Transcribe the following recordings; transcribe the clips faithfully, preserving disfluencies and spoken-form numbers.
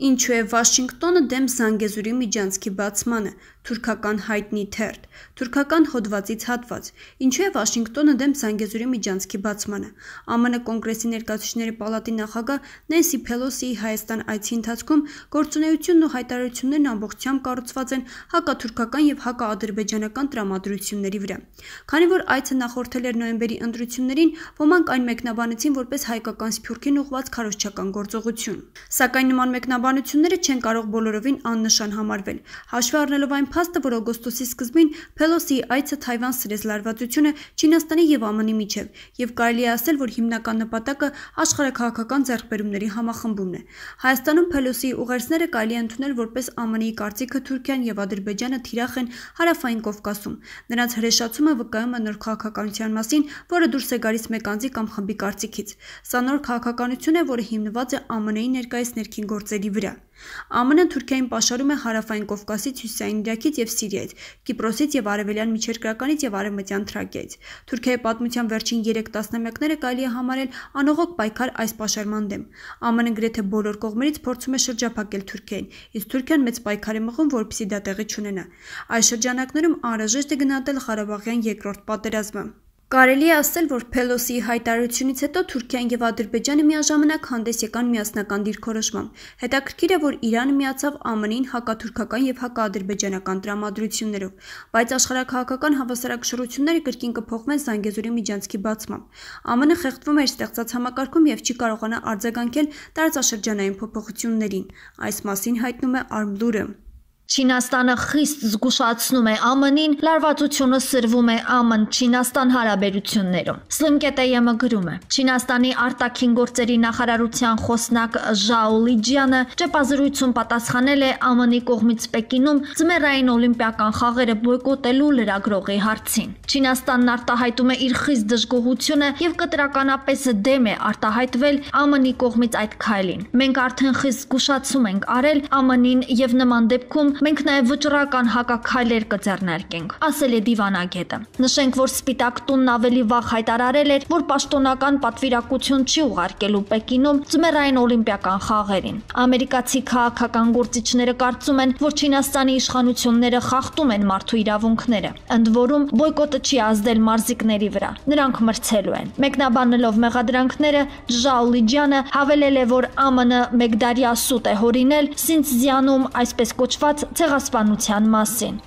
Ինչու է Վաշինգտոնը դեմ Զանգեզուրի միջանցքի բացմանը, թուրքական հայտնի թերթ, թուրքական հոդվածից հատված, ինչու է Վաշինգտոնը դեմ Զանգեզուրի միջանցքի բացմանը, ԱՄՆ կոնգրեսի ներկայացուցիչների պալատի նախագահ Նենսի Փելոսիի Հայաստան այցի ընթացքում գործունեությունն ու հայտարարություններն ամբողջությամբ կառուցված են հակաթուրքական և հակաադրբեջանական տրամադրությունների վրա։ Քանի որ այցը նախորդել էր նոյեմբերի ընտրություններին, ոմանք այն մեկնաբանեցին որպես հայկական Սփյուռքին ուղղված քարոզչական գործողություն։ Սակայն նման մեկնաբանությունները չեն կարող բոլորովին աննշան համարվել, հաշվի առնելով այն փաստը, որ օգոստոսի սկզբին Փելոսիի այցը Թայվան սրեց լարվածությունը Չինաստանի և ԱՄՆ-ի միջև, և կարելի է ասել, որ հիմնական նպատակը աշխարհաքաղաքական ձեռքբերումների համախմբումն է։ Հայաստանում Փելոսիի ուղերձները կարելի է ընդունել որպես ԱՄՆ-ի կարծիքը Թուրքիան և Ադրբեջանը թիրախ են Հարավային Կովկասում։ Նրանց հրեշացումը վկայում է նոր քաղաքականության մասին, որը դուրս է գալիս մեկ անձի կամ խմբի կարծիքից։ Սա նոր քաղաքականություն է, որը հիմնված է ԱՄՆ-ի ներկայիս ներքին գործերի վրա։ ԱՄՆ-ն Թուրքիային պաշարում է Հարավային Կովկասից, Հյուսիսային Իրաքից և Սիրիայից, Կիպրոսից և Արևելյան Միջերկրականից և Արևմտյան Թրակիայից։ Թուրքիայի պատմության վերջին երեք տասնամյակները կարելի է համարել անողոք պայքար այս պաշարման դեմ։ ԱՄՆ-ն գրեթե բոլոր կողմերից փորձում է շրջափակել Թուրքիային, իսկ Թուրքիան մեծ պայքար է մղում, որպեսզի դա տեղի չունենա։ Այս շրջանակներում անհրաժեշտ է գնահատել Ղարաբաղյան երկրորդ պատերազմը։ Կարելի է ասել, որ Փելոսիի հայտարարությունից հետո Թուրքիան և Ադրբեջանը միաժամանակ հանդես եկան միասնական դիրքորոշմամբ։ Հետաքրքիր է, որ Իրանը միացավ ԱՄՆ-ին հակաթուրքական և հակաադրբեջանական տրամադրություններով, բայց աշխարհաքաղաքական հավասարակշռությունները կրկին կփոխվեն Զանգեզուրի միջանցքի բացմամբ։ ԱՄՆ-ն խեղդվում է իր ստեղծած համակարգում և չի կարողանա արձագանքել տարածաշրջանային փոփոխություններին։ Այս մասին հայտնում է Արմլուրը։ Չինաստանը խիստ զգուշացնում է ԱՄՆ-ին, լարվածությունը սրվում է ԱՄՆ-Չինաստան հարաբերություններում։ Սլիմկետեյեմը գրում է. Չինաստանի արտաքին գործերի նախարարության խոսնակ Ժաո Լիջյանը ճեպազրույցում պատասխանել է ԱՄՆ-ի կողմից Պեկինում ձմեռային օլիմպիական խաղերը բոյկոտելու լրագրողի հարցին։ Չինաստանն արտահայտում է իր խիստ դժգոհությունը և կտրականապես դեմ է արտահայտվել ԱՄՆ-ի կողմից այդ քայլին։ Մենք արդեն խիստ զգուշացում ենք արել ԱՄՆ-ին և նման դեպքում մենք նաև վճռական հակաքայլեր կձեռնարկենք, ասել է դիվանագետը։ Նշենք, որ Սպիտակ տունն ավելի վաղ հայտարարել էր, որ պաշտոնական պատվիրակություն չի ուղարկելու Պեկինում ձմեռային օլիմպիական խաղերին։ Ամերիկացի քաղաքական գործիչները կարծում են, որ Չինաստանի իշխանությունները խախտում են մարդու իրավունքները։ Ընդ որում, բոյկոտը չի ազդել մարզիկների վրա, նրանք մրցելու են։ Մեկնաբանելով մեղադրանքները, Ժաո Լիջյանը հավելել է, որ ԱՄՆ մեկդարյա սուտ է հորինել Սինցզյանում այսպես կոչված ցեղասպանության մասին։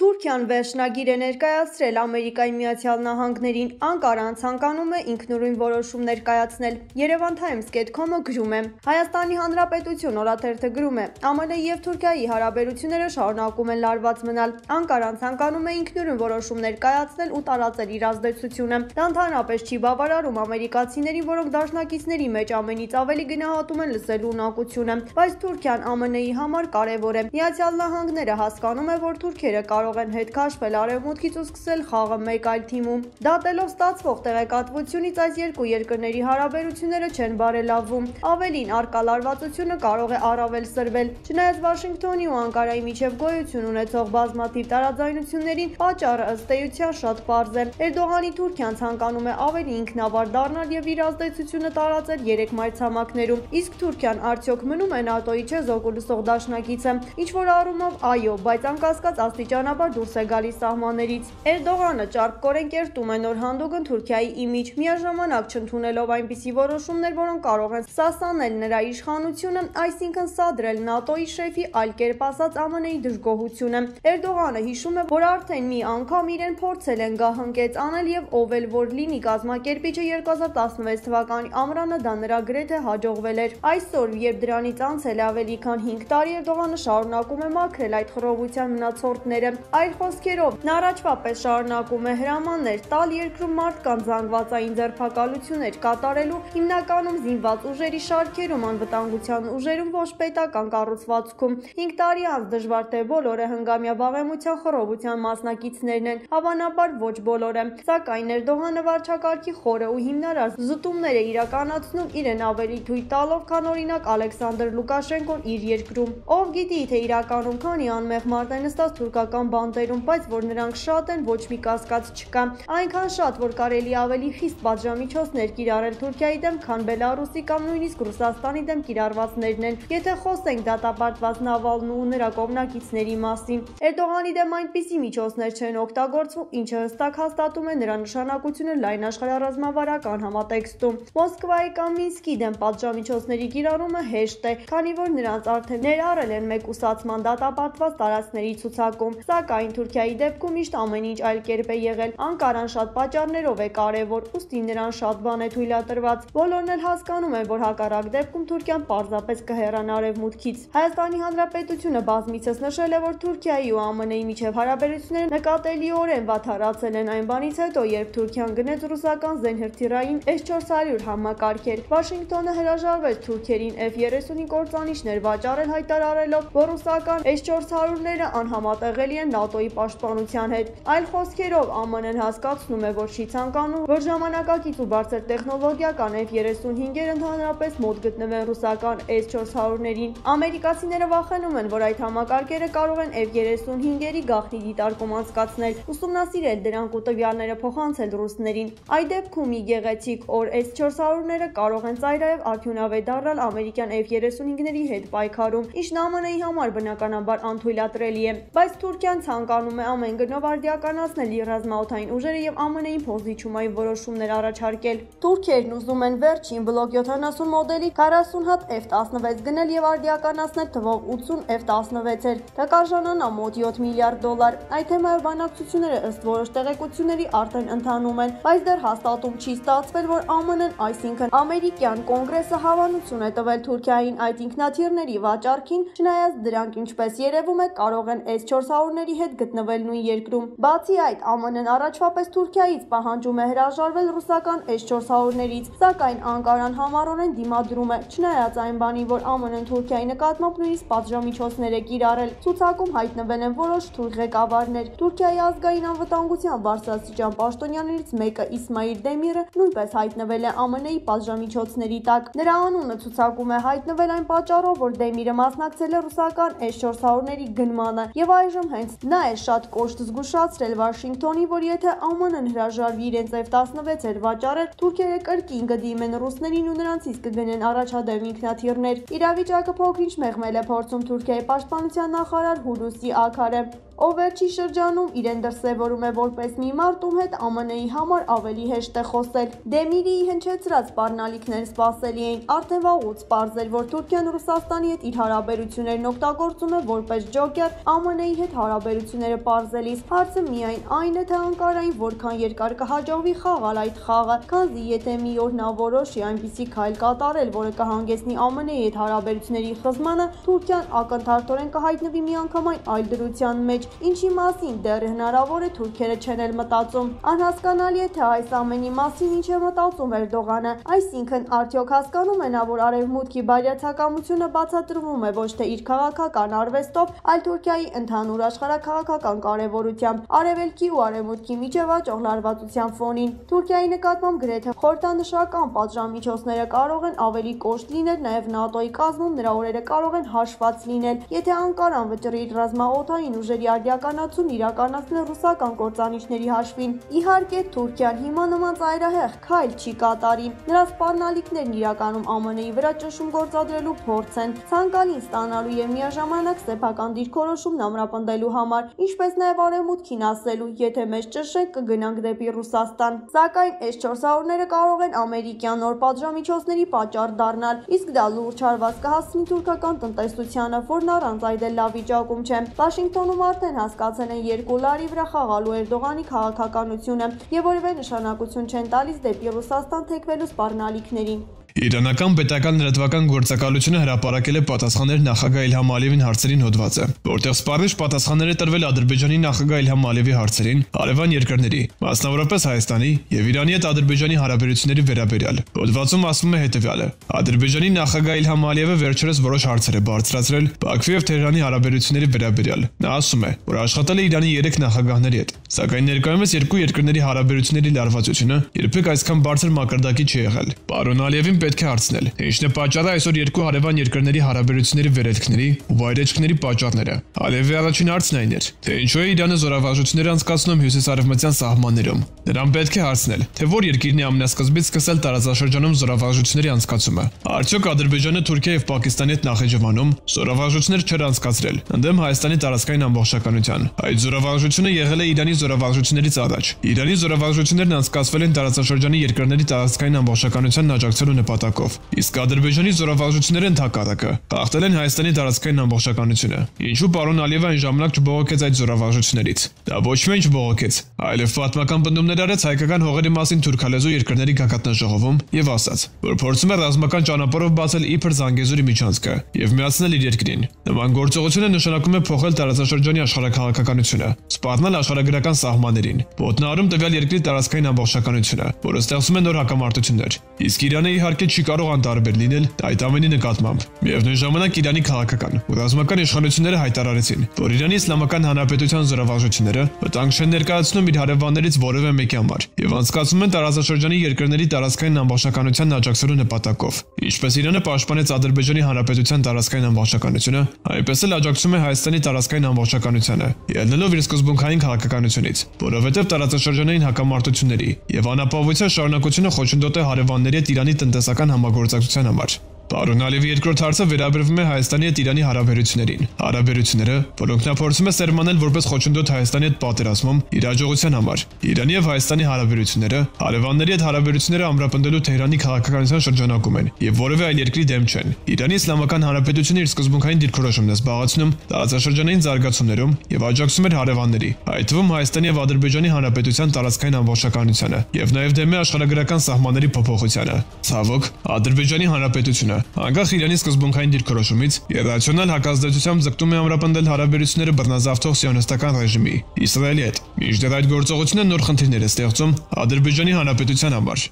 Թուրքիան վերջնագիր է ներկայացրել Ամերիկայի Միացյալ Նահանգներին, Անկարան ցանկանում է ինքնուրույն որոշումներ կայացնել։ Երևան Times dot com-ը գրում է. Հայաստանի Հանրապետություն օրաթերթը գրում է. ԱՄՆ-ի և Թուրքիայի հարաբերությունները շարունակում են լարված մնալ։ Անկարան ցանկանում է ինքնուրույն որոշումներ կայացնել ու տարածել իր ազդեցությունը։ Դա ընդհանրապես չի բավարարում ամերիկացիներին, որոնք դաշնակիցների մեջ ամենից ավելի գնահատում են լսելու ունակությունը, բայց Թուրքիան ԱՄՆ-ի համար կարևոր է։ Միացյալ Նահանգները հասկանում է, որ թուրքերը կարող են հետ քաշվել արևմուտքից ու սկսել խաղը մեկ այլ թիմում։ Դատելով ստացվող տեղեկատվությունից այս երկու երկրների հարաբերությունները չեն բարելավվում։ Ավելին, առկա լարվածությունը կարող է առավել սրվել։ Չնայած Վաշինգտոնի ու Անկարայի միջև գոյություն ունեցող բազմաթիվ տարաձայնություններին, պատճառը ըստ էության շատ պարզ է։ Էրդողանի Թուրքիան ցանկանում է ավելի ինքնավար դառնալ և իր ազդեցությունը տարածել երեք մայրցամաքներում, իսկ Թուրքիան արդյոք մնում է ՆԱՏՕ-ի չեզոք ու լսող դաշնակիցը։ Ինչ-որ առումով այո, բայց անկասկած աստիճանաբար դուրս է գալիս սահմաններից։ Էրդողանը ճարպկորեն կերտում է նոր հանդուգն Թուրքիայի իմիջ, միաժամանակ չընդունելով այնպիսի որոշումներ, որոնք կարող են սասանել նրա իշխանությունը, այսինքն սադրել ՆԱՏՕ-ի շեֆի, այլ կերպ ասած ԱՄՆ-ի դժգոհությունը։ Էրդողանը հիշում է, որ արդեն մի անգամ իրեն փորձել են գահընկեց անել և ով էլ որ լինի կազմակերպիչը երկու հազար տասնվեց թվականի ամռանը դա նրա գրեթե հաջողվել էր։ Այսօր, երբ դրանից անցել է ավելի քան հինգ տարի, Էրդողանը շարունակում է մաքրել այդ խռովության մնացորդները։ Այլ խոսքերով, նա առաջվա պես շարունակում է հրամաններ տալ երկրում մարդկանց զանգվածային ձերբակալություններ կատարելու, հիմնականում զինված ուժերի շարքերում, անվտանգության ուժերում, ոչ պետական կառուցվածքում։ Հինգ տարի անց դժվար թե բոլորը հնգամյա վաղեմության խռովության մասնակիցներն են, հավանաբար ոչ բոլորը, սակայն Էրդողանը վարչակարգի խորը ու հիմնարար զտումներ է իրականացնում իրեն ավելի թույլ տալով, քան օրինակ Ալեքսանդր Լուկաշենկոն իր երկրում։ Ով գիտի, թե իրականում քանի անմեղ մարդ է նստած թուրքական բանդերում, բայց որ նրանք շատ են, ոչ մի կասկած չկա։ Այնքան շատ, որ կարելի ավելի խիստ պատժամիջոցներ կիրառել Թուրքիայի դեմ, քան Բելարուսի կամ նույնիսկ Ռուսաստանի դեմ կիրառվածներն են։ Եթե խոսենք դատապարտված Նավալնու ու նրա կողմնակիցների մասին, Էրդողանի դեմ այնպիսի միջոցներ չեն օգտագործվում, ինչը հստակ հաստատում է նրա նշանակությունը լայն աշխարհառազմավարական համատեքստում։ Մոսկվայի կամ Մինսկի դեմ պատժամիջոցների կիրառումը հեշտ է, քանի որ նրանց արդեն ներառել են մեկուսացման դատապարտված տարածքների ցուցակում, սակայն Թուրքիայի դեպքում միշտ ամեն ինչ այլ կերպ է եղել։ Անկարան շատ պատճառներով է կարևոր, ուստի նրան շատ բան է թույլատրված։ Բոլորն էլ հասկանում են, որ հակառակ դեպքում Թուրքիան պարզապես կհեռանա արևմուտքից։ Հայաստանի Հանրապետությունը բազմիցս նշել է, որ Թուրքիայի ու ԱՄՆ-ի միջև հարաբերությունները նկատելիորեն վատթարացել են այն բանից հետո, երբ Թուրքիան գնեց ռուսական զենհրթիռային էս չորս հարյուր համակարգեր։ Վաշինգտոնը հրաժարվեց թուրքերին F երեսունի կործանիչներ վաճառել, հայտարարելով, որ ռուսական էս չորս հարյուրները անհամատեղելի են ՆԱՏՕ-ի պաշտպանության հետ։ Այլ խոսքերով, ԱՄՆ-ն հասկացնում է, որ չի ցանկանում, որ ժամանակակից ու բարձր տեխնոլոգիական F երեսունհինգերը ընդհանրապես մոտ գտնվեն ռուսական էս չորս հարյուրներին։ Ամերիկացիները վախենում են, որ այդ համակարգերը կարող են F երեսունհինգերի գաղտնի դիտարկում անցկացնել, ուսումնասիրել դրանք ու տվյալները փոխանցել ռուսներին։ Այդ դեպքում մի գեղեցիկ օր էս չորս հարյուրները կարող են ծայրահեղ արդյունավետ դառնալ ամերիկյան F երեսունհինգների հետ պայքարում, ինչն ԱՄՆ-ի համար բնականաբար անթույլատրելի է։ Բայց Թուրքիան ցանկանում է ամեն գնով արդիականացնել իր ռազմաօդային ուժերը եւ ԱՄՆ-ին փոխզիջումային որոշումներ առաջարկել։ Թուրքերն ուզում են վերջին բլոկ յոթանասուն մոդելի քառասուն հատ F տասնվեց գնել եւ արդիականացնել թվով ութսուն F տասնվեցեր։ Դա կարժանանա մոտ յոթ միլիարդ դոլար։ Այդ թեմայով բանակցությունները ըստ որոշ տեղեկությունների արդեն ընթանում են, բայց դեռ հաստատում չի ստացվել, որ ԱՄՆ-ն, այսինքն ամերիկյան կոնգրեսը հավանություն է տվել Թուրքիային այդ ինքնաթիռների վաճառքին, չնայած դրանք, ինչպես երևում է, կարող են էս չորս հարյուրների հետ գտնվել նույն երկրում։ Բացի այդ, ԱՄՆ-ն առաջվա պես Թուրքիայից պահանջում է հրաժարվել ռուսական էս չորս հարյուրներից, սակայն Անկարան համառորեն դիմադրում է, չնայած այն բանին, որ ԱՄՆ-ն Թուրքիայի նկատմամբ նույնիսկ պատժամիջոցներ է կիրառել։ Ցուցակում հայտնվել են որոշ թուրք ղեկավարներ։ Թուրքիայի ազգային անվտանգության բարձրաստիճան պաշտոնյաներից մեկը Իսմայիլ Դեմիրը նույնպես հայտնվել է ԱՄՆ-ի պատժամիջոցների տակ։ Նրա անունը ցուցակում է հայտնվել այն պատճառով, որ Դեմիրը մասնակցել է ռուսական էս չորս հարյուրների գնմանը, եւ այժմ հենց նա է շատ կոշտ զգուշացրել Վաշինգտոնի, որ եթե ԱՄՆ-ն հրաժարվի իրենց F տասնվեցեր վաճառել, թուրքերը կրկին կդիմեն ռուսներին ու նրանցից կգնեն առաջադեմ ինքնաթիռներ։ Իրավիճակը փոքրինչ մեղմել է փորձում Թուրքիայի պաշտպանության նախարար Հուլուսի Աքարը, ով վերջի շրջանում իրեն դրսևորում է որպես մի մարդ, ում հետ ԱՄՆ-ի համար ավելի հեշտ է խոսել։ Դեմիրի հնչեցրած սպառնալիքներն սպասելի էին, արդեն վաղուց պարզ էր, որ Թուրքիան Ռուսաստանի հետ իր հարաբերություններն օգտագործում է որպես ջոկեր ԱՄՆ-ի հետ հարաբերությունները պարզելիս։ Հարցը միայն այն է, թե Անկարային որքան երկար կհաջողվի խաղալ այդ խաղը, քանզի եթե մի օր նա որոշի այնպիսի քայլ կատարել, որը կհանգեցնի ԱՄՆ-ի հետ հարաբերությունների խզմանը, Թուրքիան ակնթարթորեն կհայտնվի միանգամայն այլ դրության մեջ, ինչի մասին դեռ հնարավոր է թուրքերը չեն էլ մտածում։ Անհասկանալի է, թե այս ամենի մասին ինչ է մտածում Էրդողանը, այսինքն արդյոք հասկանում է նա, որ արևմուտքի բարյացակամությունը բացատրվում է ոչ թե իր քաղաքական արվեստով, այլ Թուրքիայի ընդհանուր աշխարհաքաղաքական կարևորությամբ, արևելքի ու արևմուտքի միջև աճող լարվածության ֆոնին։ Թուրքիայի նկատմամբ գրեթե խորհրդանշական պատժամիջոցները կարող են ավելի կոշտ լինել, նաև ՆԱՏՕ-ի կազմում նրա օրերը կարող են հաշված լինել, եթե Անկարան վճռի իր ռազմաօդային ուժերի արդիականացում իրականացնել ռուսական կործանիչների հաշվին։ Իհարկե, Թուրքիան հիմա նման ծայրահեղ քայլ չի կատարի։ Նրա սպառնալիքներն իրականում ԱՄՆ-ի վրա ճնշում գործադրելու փորձ են, ցանկալին ստանալու եւ միաժամանակ սեփական դիրքորոշումն ամրապնդելու համար, ինչպես նաեւ արևմուտքին ասելու, եթե մեզ ճնշեք, կգնանք դեպի Ռուսաստան։ Սակայն էս չորս հարյուրները կարող են ամերիկյան նոր պատժամիջոցների պատճառ դառնալ, իսկ դա լուրջ հարված կհասցնի թուրքական տնտեսությանը, որն առանց այդ էլ լավ վիճակում չէ։ Վաշինգտոնում արդեն հասկացել են երկու լարի վրա խաղալու Էրդողանի քաղաքականությունը եւ որևէ նշանակություն չեն տալիս դեպի Ռուսաստան թեքվելու սպառնալիքներին։ Իրանական պետական լրատվական գործակալությունը հրապարակել է պատասխաններ նախագահ Իլհամ Ալիևին հարցերին հոդվածը, որտեղ սպառնիչ պատասխաններ է տրվել Ադրբեջանի նախագահ Իլհամ Ալիևի հարցերին հարևան երկրների, մասնավորապես Հայաստանի եւ Իրանի հետ Ադրբեջանի հարաբերությունների վերաբերյալ։ Հոդվածում ասվում է հետեւյալը. Ադրբեջանի նախագահ Իլհամ Ալիևը վերջերս որոշ հարցեր է բարձրացրել Բաքվի եւ Թեհրանի հարաբերությունների վերաբերյալ։ Նա ասում է, որ աշխատել է Իրանի երեք նախագահների հետ, սակայն ներկայումս երկու երկրների հարաբերությունների լարվածությունը երբեք այսքան բարձր մակարդակի չի եղել։ Պարոն Ալիևին պետք է հարցնել, թե ինչն է պատճառը այսօր երկու հարևան երկրների հարաբերությունների վերելքների ու վայրեջքների պատճառները։ Ալիևի առաջին հարցն այն էր, թե ինչու է Իրանը զորավարժություններ անցկացնում հյուսիսարևմտյան սահմաններում։ Նրան պետք է հարցնել, թե որ երկիրն է ամենասկզբից սկսել տարածաշրջանում զորավարժությունների անցկացումը։ Արդյոք Ադրբեջանը Թուրքիա եւ Պակիստանի հետ Նախիջևանում զորավարժություններ չեր անցկացրել ընդդեմ Հայաստանի տարածքային ամբողջականության։ Այդ զորավարժությունը եղել է Իրանի զորավարժություններից առաջ։ Իրանի զորավարժություններն անցկացվել են տարածաշրջանի երկրների տարածքային ամբողջականությանն աջակցելու նպատակով, իսկ Ադրբեջանի զորավարժությունները ընդհակառակը խախտել են Հայաստանի տարածքային ամբողջականությունը։ Ինչու պարոն Ալիևը այն ժամանակ չբողոքեց այդ զորավարժություններից։ Դա ոչ միայն չբողոքեց, այլև պատմական պնդումներ արեց հայկական հողերի մասին թուրքալեզու երկրների գագաթնաժողովում եւ ասաց, որ փորձում է ռազմական ճանապարհով բացել իբր Զանգեզուրի միջանցքը եւ միացնել իր երկրին։ Նման գործողությունը նշանակում է փոխել տարածաշրջանի աշխարհաքաղաքականությունը, սպառնել աշխարհագրական սահմաններին, ոտնահարում տվյալ երկրի տարածքային ամբողջականությունը, որը ստեղծում է նոր հակամարտություններ։ Իսկ Իրանը իհարկե չի կարող անտարբեր լինել այդ ամենի նկատմամբ։ Միևնույն ժամանակ Իրանի քաղաքական ու ռազմական իշխանությունները հայտարարեցին, որ Իրանի Իսլամական Հանրապետության զորավարժությունները վտանգ չեն ներկայացնում իր հարևաններից որևէ մեկի համար եւ անցկացնում են տարածաշրջանի երկրների տարածքային ամբողջականությանն աջակցելու նպատակով։ Ինչպես Իրանը պաշտպանեց Ադրբեջանի Հանրապետության տարածքային ամբողջականությունը, այնպես էլ աջակցում է Հայաստանի տարածքային ամբողջականությանը, ելնելով իր սկզբունքային քաղաքականությունից, որովհետև տարածաշրջանային հակամարտությունների եւ անապահովության շարունակությունը խոչընդոտ է հարևանների հետ Իրանի տնտեսական համագործակցության համար։ Պարոն Ալիևի երկրորդ հարցը վերաբերվում է Հայաստանի հետ Իրանի հարաբերություններին։ Հարաբերությունները, որոնք նա փորձում է սերմանել որպես խոչընդոտ Հայաստանի հետ պատերազմում իր աջողության համար։ Իրանի եւ Հայաստանի հարաբերությունները հարևանների հետ հարաբերությունները ամրապնդելու Թեհրանի քաղաքականության շրջանակում են եւ որևէ այլ երկրի դեմ չեն։ Իրանի Իսլամական Հանրապետությունը իր սկզբունքային դիրքորոշումն է զբաղեցնում տարածաշրջանային զարգացումներում եւ աջակցում էր հարևանների, այդ թվում Հայաստանի եւ Ադրբեջանի Հանրապետության տարածքային ամբողջականությանը եւ նաեւ դեմ է աշխարհագրական սահմանների փոփոխությանը։ Ցավոք, Ադրբեջանի Հանրապետությունը անկախ Իրանի սկզբունքային դիրքորոշումից իրացիոնալ հակազդեցությամբ ձգտում է ամրապնդել հարաբերությունները բռնազավթող սիոնիստական ռեժիմի Իսրայելի հետ։ Մինչդեռ այդ գործողությունը նոր խնդիրներ է ստեղծում Ադրբեջանի Հանրապետության համար։